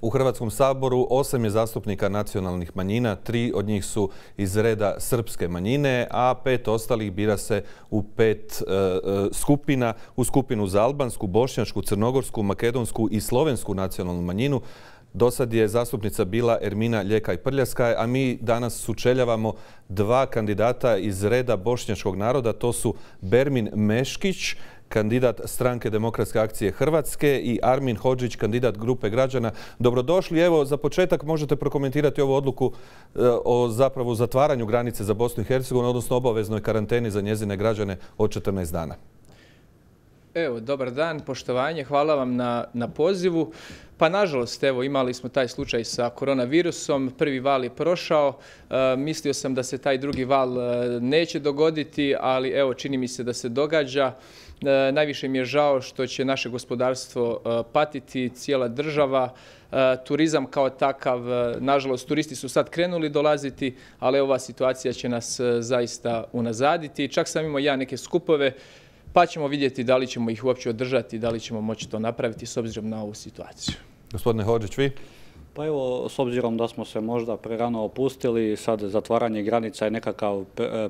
U Hrvatskom saboru 8 je zastupnika nacionalnih manjina, 3 od njih su iz reda srpske manjine, a 5 ostalih bira se u 5 skupina, u skupinu za albansku, bošnjačku, crnogorsku, makedonsku i slovensku nacionalnu manjinu. Do sad je zastupnica bila Ermina Ljekaj Prljaskaj, a mi danas sučeljavamo 2 kandidata iz reda bošnjačkog naroda. To su Bermin Meškić, kandidat Stranke demokratske akcije Hrvatske, i Armin Hodžić, kandidat Grupe građana. Dobrodošli. Evo, za početak možete prokomentirati ovu odluku o zapravo zatvaranju granice za Bosnu i Hercegovinu, odnosno obaveznoj karanteni za njezine građane od 14 dana. Evo, dobar dan, poštovanje, hvala vam na pozivu. Pa nažalost, evo, imali smo taj slučaj sa koronavirusom, prvi val je prošao, mislio sam da se taj drugi val neće dogoditi, ali evo, čini mi se da se događa. Najviše mi je žao što će naše gospodarstvo patiti, cijela država, turizam kao takav. Nažalost, turisti su sad krenuli dolaziti, ali ova situacija će nas zaista unazaditi. Čak sam imao ja neke skupove, pa ćemo vidjeti da li ćemo ih uopće održati, da li ćemo moći to napraviti s obzirom na ovu situaciju. Gospodine Hodžić, vi? Pa evo, s obzirom da smo se možda prerano opustili, sad zatvaranje granica je nekakav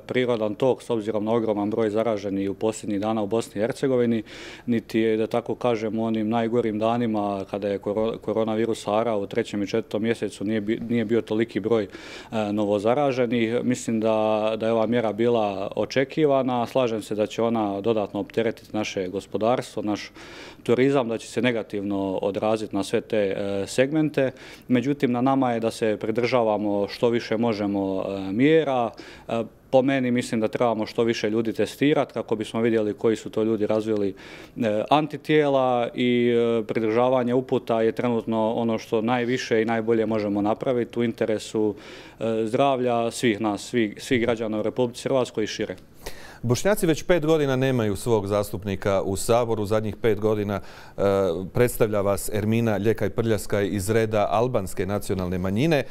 prirodan tok s obzirom na ogroman broj zaraženih u posljednjih dana u Bosni i Hercegovini, niti je, da tako kažem, u onim najgorim danima kada je koronavirus harao u 3. i 4. mjesecu nije bio toliki broj novozaraženih. Mislim da je ova mjera bila očekivana. Slažem se da će ona dodatno opteretiti naše gospodarstvo, naš turizam, da će se negativno odraziti na sve te segmente. Međutim, na nama je da se pridržavamo što više možemo mjera. Po meni mislim da trebamo što više ljudi testirati kako bismo vidjeli koji su to ljudi razvili antitijela, i pridržavanje uputa je trenutno ono što najviše i najbolje možemo napraviti u interesu zdravlja svih nas, svih građana u Republici Hrvatskoj i šire. Bošnjaci već 5 godina nemaju svog zastupnika u Saboru. Zadnjih 5 godina predstavlja vas Ermina Ljekaj Prljaskaj iz reda albanske nacionalne manjine.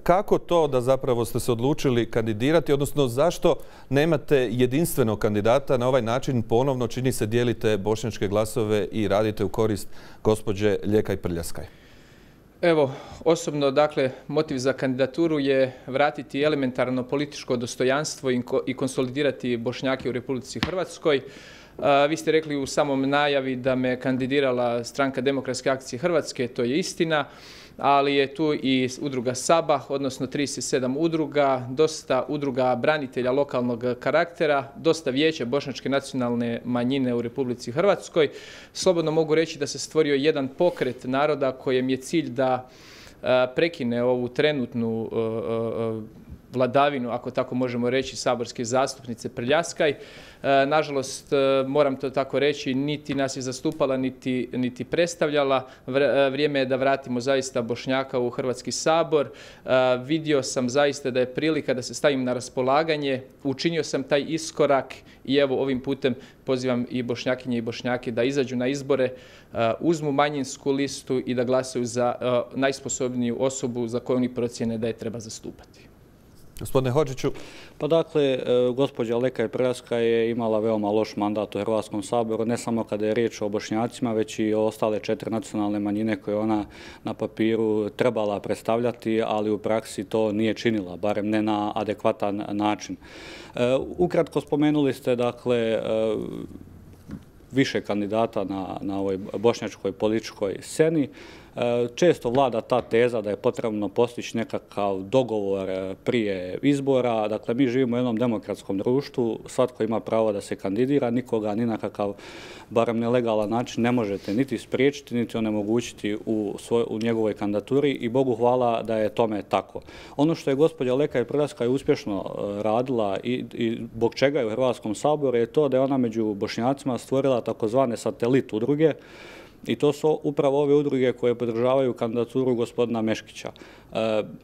Kako to da zapravo ste se odlučili kandidirati, odnosno zašto nemate jedinstvenog kandidata? Na ovaj način ponovno, čini se, dijelite bošnjačke glasove i radite u korist gospođe Ljekaj Prljaskaj. Evo, osobno, dakle, motiv za kandidaturu je vratiti elementarno političko dostojanstvo i konsolidirati Bošnjake u Republici Hrvatskoj. Vi ste rekli u samom najavi da me kandidirala Stranka demokratske akcije Hrvatske, to je istina, ali je tu i udruga Sabah, odnosno 37 udruga, dosta udruga branitelja lokalnog karaktera, dosta vijeća bošnjačke nacionalne manjine u Republici Hrvatskoj. Slobodno mogu reći da se stvorio jedan pokret naroda kojem je cilj da prekine ovu trenutnu vladavinu, ako tako možemo reći, saborske zastupnice Prljaskaj. Nažalost, moram to tako reći, niti nas je zastupala, niti predstavljala. Vrijeme je da vratimo zaista Bošnjaka u Hrvatski sabor. Vidio sam zaista da je prilika da se stavim na raspolaganje. Učinio sam taj iskorak i evo ovim putem pozivam i Bošnjakinje i Bošnjake da izađu na izbore, uzmu manjinsku listu i da glasaju za najsposobniju osobu za koju oni procjene da je treba zastupati. Gospodine Hodžiću. Pa dakle, gospođa Ljekaj Prljaskaj je imala veoma loš mandat u Hrvatskom saboru, ne samo kada je riječ o Bošnjacima, već i o ostale 4 nacionalne manjine koje ona na papiru trebala predstavljati, ali u praksi to nije činila, barem ne na adekvatan način. Ukratko spomenuli ste, dakle, više kandidata na ovoj bošnjačkoj političkoj sceni. Često vlada ta teza da je potrebno postići nekakav dogovor prije izbora. Dakle, mi živimo u jednom demokratskom društvu, svatko ima pravo da se kandidira, nikoga ni na kakav, barem nelegalan način, ne možete niti spriječiti, niti onemogućiti u njegovoj kandidaturi, i Bogu hvala da je tome tako. Ono što je gospođa Ljekaj Prljaskaj uspješno radila i zbog čega je u Hrvatskom saboru je to da je ona među Bošnjacima stvorila takozvane satelit udruge, i to su upravo ove udruge koje podržavaju kandidaturu gospodina Meškića.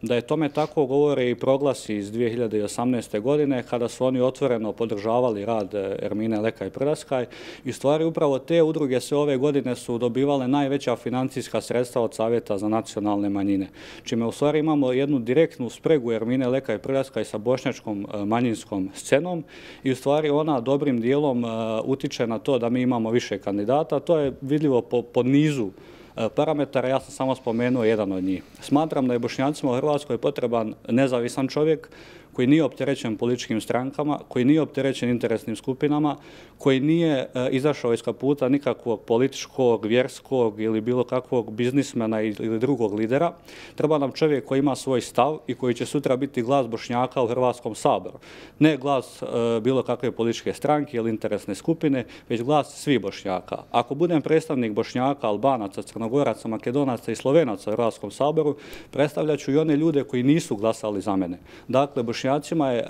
Da je tome tako govore i proglasi iz 2018. godine kada su oni otvoreno podržavali rad Ermine Ljekaj Prljaskaj, i u stvari upravo te udruge sve ove godine su dobivale najveća financijska sredstva od Savjeta za nacionalne manjine, čime u stvari imamo jednu direktnu spregu Ermine Ljekaj Prljaskaj sa bošnjačkom manjinskom scenom, i u stvari ona dobrim dijelom utiče na to da mi imamo više kandidata. To je vidljivo po nizu parametara, ja sam samo spomenuo jedan od njih. Smatram da je Bošnjacima u Hrvatskoj potreban nezavisan čovjek koji nije opterećen političkim strankama, koji nije opterećen interesnim skupinama, koji nije izašao iz kaputa nikakvog političkog, vjerskog ili bilo kakvog biznismena ili drugog lidera. Treba nam čovjek koji ima svoj stav i koji će sutra biti glas Bošnjaka u Hrvatskom saboru. Ne glas bilo kakve političke stranke ili interesne skupine, već glas svih Bošnjaka. Ako budem predstavnik Bošnjaka, Albanaca, Crnogoraca, Makedonaca i Slovenaca u Hrvatskom saboru, predstavljat ću i one ljude koji nisu glasali za mene. Dakle, Bošnjacima je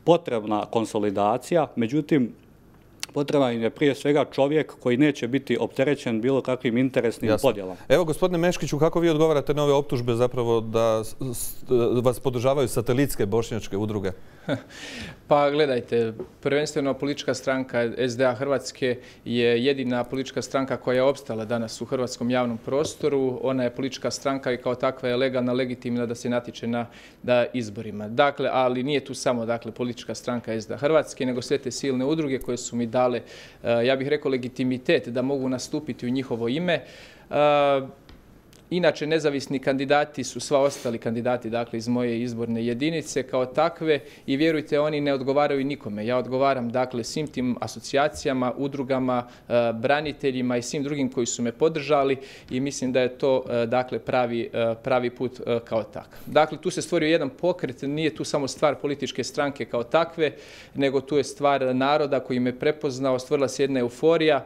potrebna konsolidacija, međutim, potreban je prije svega čovjek koji neće biti opterećen bilo kakvim interesnim podjelama. Evo, gospodine Meškiću, kako vi odgovarate na ove optužbe zapravo da vas podržavaju satelitske bošnjačke udruge? Pa gledajte, prvenstveno politička stranka SDA Hrvatske je jedina politička stranka koja je opstala danas u hrvatskom javnom prostoru. Ona je politička stranka i kao takva je legalna, legitimna da se natječe na izborima. Dakle, ali nije tu samo politička stranka SDA Hrvatske, nego sve te silne udruge koje su mi dale, ja bih rekao, legitimitet da mogu nastupiti u njihovo ime. Inače, nezavisni kandidati su sva ostali kandidati, dakle, iz moje izborne jedinice kao takve i vjerujte, oni ne odgovaraju nikome. Ja odgovaram, dakle, svim tim asocijacijama, udrugama, braniteljima i svim drugim koji su me podržali i mislim da je to, dakle, pravi put kao takav. Dakle, tu se stvorio jedan pokret, nije tu samo stvar političke stranke kao takve, nego tu je stvar naroda koji me prepoznao, stvorila se jedna euforija.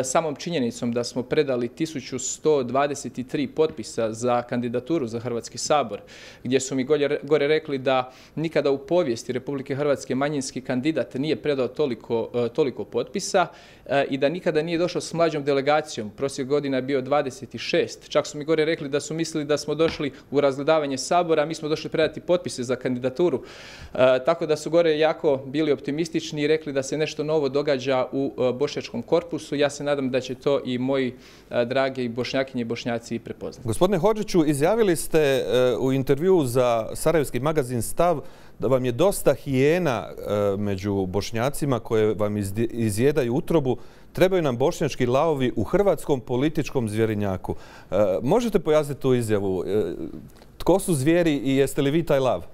Samom činjenicom da smo predali 1123 potpisa za kandidaturu za Hrvatski sabor, gdje su mi gore rekli da nikada u povijesti Republike Hrvatske manjinski kandidat nije predao toliko potpisa i da nikada nije došao s mlađom delegacijom. Prosjek godina je bio 26. Čak su mi gore rekli da su mislili da smo došli u razgledavanje sabora, a mi smo došli predati potpise za kandidaturu. Tako da su gore jako bili optimistični i rekli da se nešto novo događa u bošnjačkom korpusu. Ja se nadam da će to i moji dragi bošnjakinje i bošnjaci prepoznati. Gospodine Hodžiću, izjavili ste u intervjuu za sarajevski magazin Stav da vam je dosta hijena među Bošnjacima koje vam izjedaju utrobu. Trebaju nam bošnjački lavovi u hrvatskom političkom zvjerinjaku. Možete pojasniti tu izjavu? Tko su zvijeri i jeste li vi taj lav?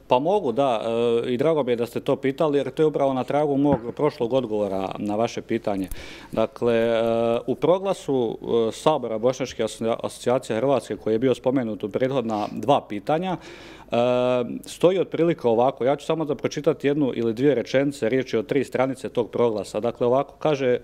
Pa mogu, da. I drago mi je da ste to pitali, jer to je upravo na tragu mog prošlog odgovora na vaše pitanje. Dakle, u proglasu Sabora Bošnjačke asocijacije Hrvatske, koji je bio spomenut u prethodna dva pitanja, stoji otprilike ovako. Ja ću samo da pročitati jednu ili dvije rečenice, riječ je o 3 stranice tog proglasa. Dakle, ovako kaže,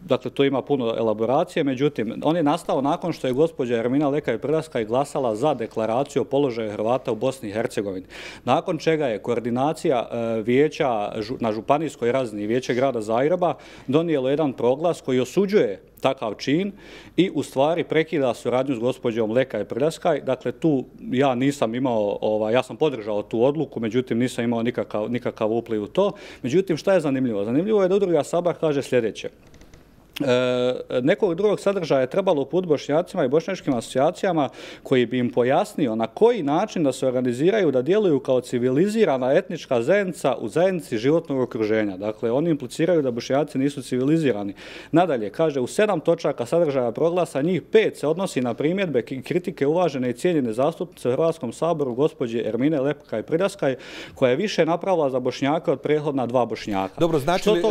dakle, tu ima puno elaboracije, međutim, on je nastao nakon što je gospođa Ermina Lekaj Prljaskaj glasala za deklaraciju o položaju Hrvata u Bosni i Hercegovini. Nakon čega je koordinacija vijeća na županijskoj razini, vijeće grada Zagreba, donijelo jedan proglas koji osuđuje takav čin i u stvari prekida suradnju s gospođom Lekaj Prljaskaj. Dakle, tu ja nisam imao, ja sam podržao tu odluku, međutim nisam imao nikakav upliv u to. Međutim, šta je zanimljivo? Zanimljivo je da udruga Sabar kaže sljedeće. Nekog drugog sadržaja je trebalo uputiti Bošnjacima i bošnjačkim asocijacijama koji bi im pojasnio na koji način da se organiziraju, da djeluju kao civilizirana etnička zajednica u zajednici životnog okruženja. Dakle, oni impliciraju da Bošnjaci nisu civilizirani. Nadalje, kaže, u 7 točaka sadržaja proglasa, njih 5 se odnosi na primjedbe i kritike uvažene i cijenjene zastupnice u Hrvatskom saboru gospođe Ermine Lekaj Prljaskaj, koja je više napravila za Bošnjaka od prethodna 2 Bošnjaka. Dobro, znači li,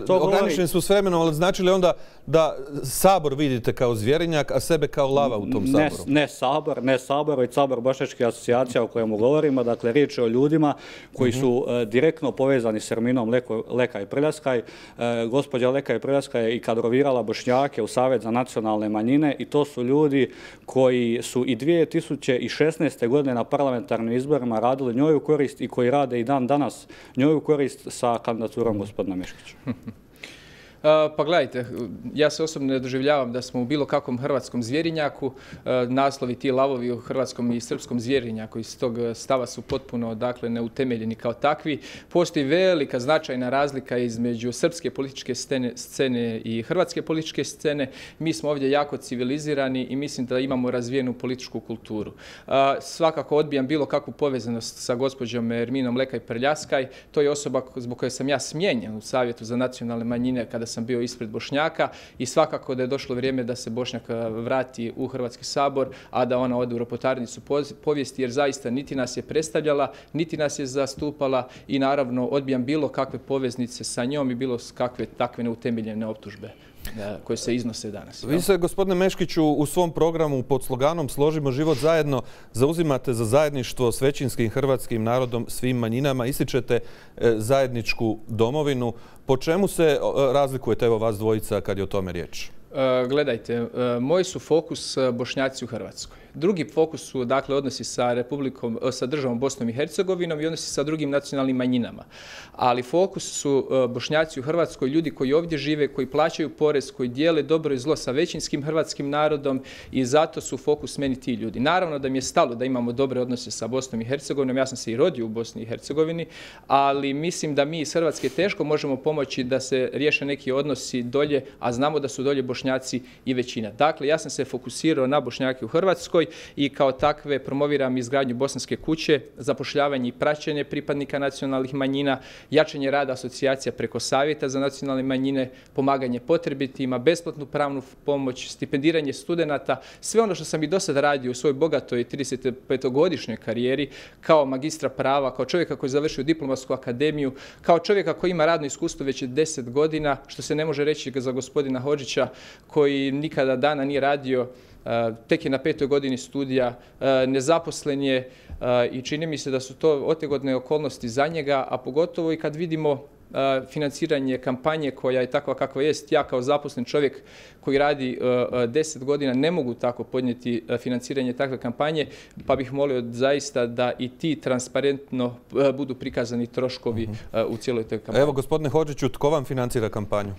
ograničeni su s vremenom, ali znači li onda da Sabor vidite kao zvjerinjak, a sebe kao lava u tom Saboru? Ne Sabor, već Sabor bošnjačkih asocijacija o kojemu govorimo. Dakle, riječ je o ljudima koji su direktno povezani s Erminom Lekaj Prljaskaj. Gospođa Lekaj Prljaskaj je i kadrovirala Bošnjake u Savjet za nacionalne manjine i to su ljudi koji su i 2016. godine na parlamentarnim izborima radili njoj u korist i koji rade i dan danas njoj u korist sa kandidaturom gospodina Meškića. Pa gledajte, ja se osobno ne doživljavam da smo u bilo kakvom hrvatskom zvjerinjaku. Naslovi ti lavovi u hrvatskom i srpskom zvjerinjaku iz tog stava su potpuno, dakle, neutemeljeni kao takvi. Postoji velika značajna razlika između srpske političke scene i hrvatske političke scene. Mi smo ovdje jako civilizirani i mislim da imamo razvijenu političku kulturu. Svakako odbijam bilo kakvu povezanost sa gospođom Erminom Lekaj Prljaskaj. To je osoba zbog koje sam ja smijenjen u Savjetu za nacionalne manjine kada sam bio ispred Bošnjaka i svakako da je došlo vrijeme da se Bošnjak vrati u Hrvatski sabor, a da ona ode u ropotarnicu povijesti, jer zaista niti nas je predstavljala, niti nas je zastupala i naravno odbijam bilo kakve poveznice sa njom i bilo kakve takve neutemeljene optužbe koje se iznose danas. Vi se, gospodine Meškiću, u svom programu pod sloganom Složimo život zajedno zauzimate za zajedništvo s većinskim hrvatskim narodom, svim manjinama, ističete zajedničku domovinu. Po čemu se razlikujete, evo vas dvojica, kad je o tome riječ? Gledajte, moj su fokus Bošnjaci u Hrvatskoj. Drugi fokus su dakle odnosi sa državom Bosnom i Hercegovinom i odnosi sa drugim nacionalnim manjinama. Ali fokus su Bošnjaci u Hrvatskoj, ljudi koji ovdje žive, koji plaćaju porez, koji dijele dobro i zlo sa većinskim hrvatskim narodom i zato su fokus meni ti ljudi. Naravno da mi je stalo da imamo dobre odnose sa Bosnom i Hercegovinom, ja sam se i rodio u Bosni i Hercegovini, ali mislim da mi iz Hrvatske teško možemo pomoći da se riješe neki odnosi dolje, a znamo da su dolje Bošnjaci i većina. Dakle, ja sam se fokusirao na Bošnjake u Hrvatskoj i kao takve promoviram izgradnju Bosanske kuće, zapošljavanje i praćenje pripadnika nacionalnih manjina, jačanje rada asocijacija preko savjeta za nacionalne manjine, pomaganje potrebitima, besplatnu pravnu pomoć, stipendiranje studenata, sve ono što sam i do sada radio u svojoj bogatoj 35-godišnjoj karijeri kao magistra prava, kao čovjeka koji je završio diplomatsku akademiju, kao čovjeka koji ima radno iskustvo već 10 godina, što se ne može reći za gospodina Hodžića koji nikada dana nije radio, tek je na 5. godini studija, nezaposlen je i čini mi se da su to otegodne okolnosti za njega, a pogotovo i kad vidimo financiranje kampanje koja je takva kakva jest. Ja kao zaposlen čovjek koji radi 10 godina ne mogu tako podnijeti financiranje takve kampanje, pa bih molio zaista da i ti transparentno budu prikazani troškovi u cijeloj toj kampanji. Evo, gospodine Hodžiću, tko vam financira kampanju?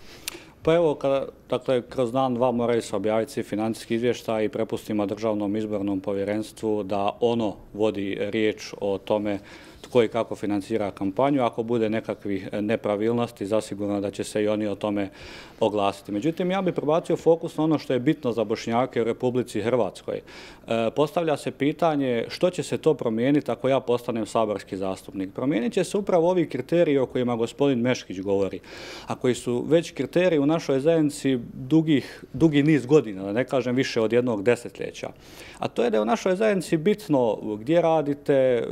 Pa evo, dakle, kroz dan, dva moraju se objaviti svi financijski izvještaj i prepustimo Državnom izbornom povjerenstvu da ono vodi riječ o tome tko i kako financira kampanju. Ako bude nekakvih nepravilnosti, zasigurno da će se i oni o tome oglasiti. Međutim, ja bih prebacio fokus na ono što je bitno za Bošnjake u Republici Hrvatskoj. Postavlja se pitanje što će se to promijeniti ako ja postanem saborski zastupnik. Promijenit će se upravo ovi kriteriji o kojima gospodin Meškić govori, a koji su već kriteriji u našoj zajednici dugi niz godina, da ne kažem više od jednog desetljeća. A to je da je u našoj zajednici bitno gdje radite,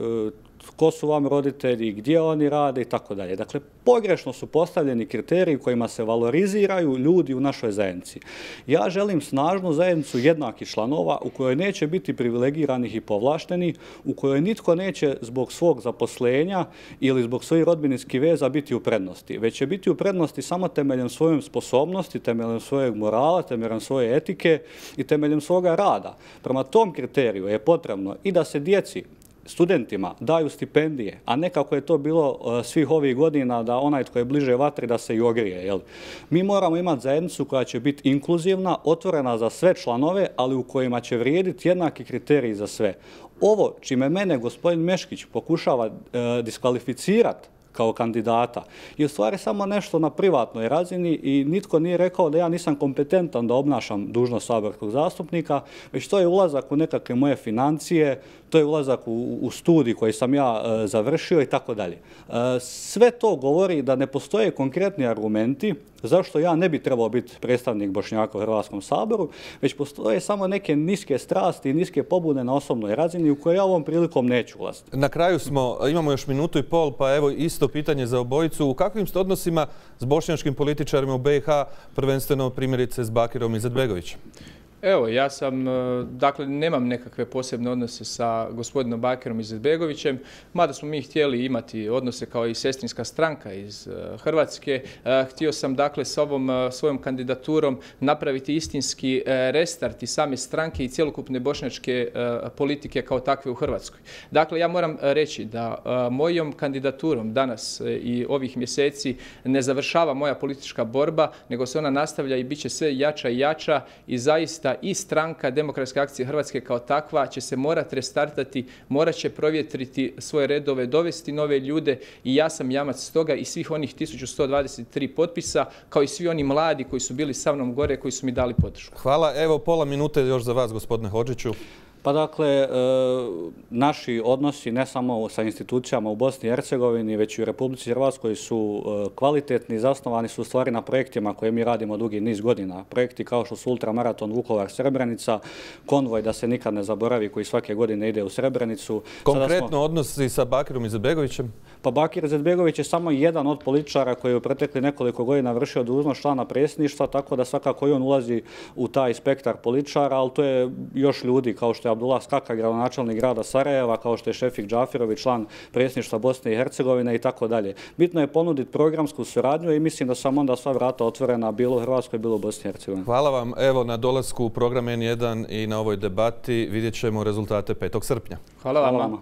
tko su vam roditelji, gdje oni rade i tako dalje. Dakle, pogrešno su postavljeni kriteriji kojima se valoriziraju ljudi u našoj zajednici. Ja želim snažnu zajednicu jednakih članova u kojoj neće biti privilegiranih i povlaštenih, u kojoj nitko neće zbog svog zaposlenja ili zbog svojih rodbinskih veza biti u prednosti, već će biti u prednosti samo temeljem svoje sposobnosti, temeljem svojeg morala, temeljem svoje etike i temeljem svoga rada. Prema tom kriteriju je potrebno i da se djeci, studentima daju stipendije, a ne kako je to bilo svih ovih godina da onaj tko je bliže vatri da se i ogrije. Jel? Mi moramo imati zajednicu koja će biti inkluzivna, otvorena za sve članove, ali u kojima će vrijediti jednaki kriteriji za sve. Ovo čime mene gospodin Meškić pokušava diskvalificirati kao kandidata je u stvari samo nešto na privatnoj razini i nitko nije rekao da ja nisam kompetentan da obnašam dužnost saborskog zastupnika, već to je ulazak u nekakve moje financije, to je ulazak u studij koji sam ja završio i tako dalje. Sve to govori da ne postoje konkretni argumenti zašto ja ne bi trebao biti predstavnik Bošnjaka u Hrvatskom saboru, već postoje samo neke niske strasti i niske pobude na osobnoj razini u koje ja ovom prilikom neću ulaziti. Na kraju smo, imamo još minutu i pol, pa evo isto pitanje za obojicu. U kakvim ste odnosima s bošnjačkim političarima u BiH, prvenstveno primjerice s Bakirom Izetbegovićem? Evo, ja sam, dakle, nemam nekakve posebne odnose sa gospodinom Bakirom Izetbegovićem, mada smo mi htjeli imati odnose kao i sestrinska stranka iz Hrvatske. Htio sam, dakle, s ovom svojom kandidaturom napraviti istinski restart i same stranke i cjelokupne bošnjačke politike kao takve u Hrvatskoj. Dakle, ja moram reći da mojom kandidaturom danas i ovih mjeseci ne završava moja politička borba, nego se ona nastavlja i bit će sve jača i jača i zaista i stranka Demokratske akcije Hrvatske kao takva će se morati restartati, morat će provjetriti svoje redove, dovesti nove ljude i ja sam jamac toga i svih onih 1123 potpisa, kao i svi oni mladi koji su bili sa mnom gore, koji su mi dali podršku. Hvala. Evo, pola minute još za vas, gospodine Hodžiću. Pa dakle, naši odnosi ne samo sa institucijama u Bosni i Hercegovini, već i u Republici Hrvatskoj su kvalitetni, zasnovani su u stvari na projektima koje mi radimo dugi niz godina. Projekti kao što su ultramaraton Vukovar-Srebrenica, konvoj da se nikad ne zaboravi koji svake godine ide u Srebrenicu. Konkretno odnosi sa Bakirom Izetbegovićem? Pa Bakir Izetbegović je samo jedan od političara koji je u protekli nekoliko godina vršio dužnost člana predsjedništva, tako da svakako i on ulazi u taj spektar političara, ali to je još ljudi kao što je Abdullah Skaka, gradonačelnik grada Sarajeva, kao što je Šefik Džafirović, član predsjedništva Bosne i Hercegovine i tako dalje. Bitno je ponuditi programsku suradnju i mislim da sam onda sva vrata otvorena bilo u Hrvatskoj, bilo u Bosni i Hercegovini. Hvala vam. Evo na dolasku u program N1 i na ovoj debati vidjet ćemo rezultate 5. srpnja. Hvala vam.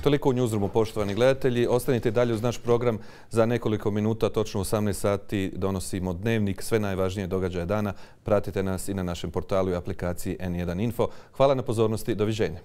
Toliko u Newsroomu, poštovani gledatelji. Ostanite dalje uz naš program. Za nekoliko minuta, točno u 18 sati, donosimo dnevnik, sve najvažnije događaje dana. Pratite nas i na našem portalu i aplikaciji N1 Info. Hvala na pozornosti. Doviđenja.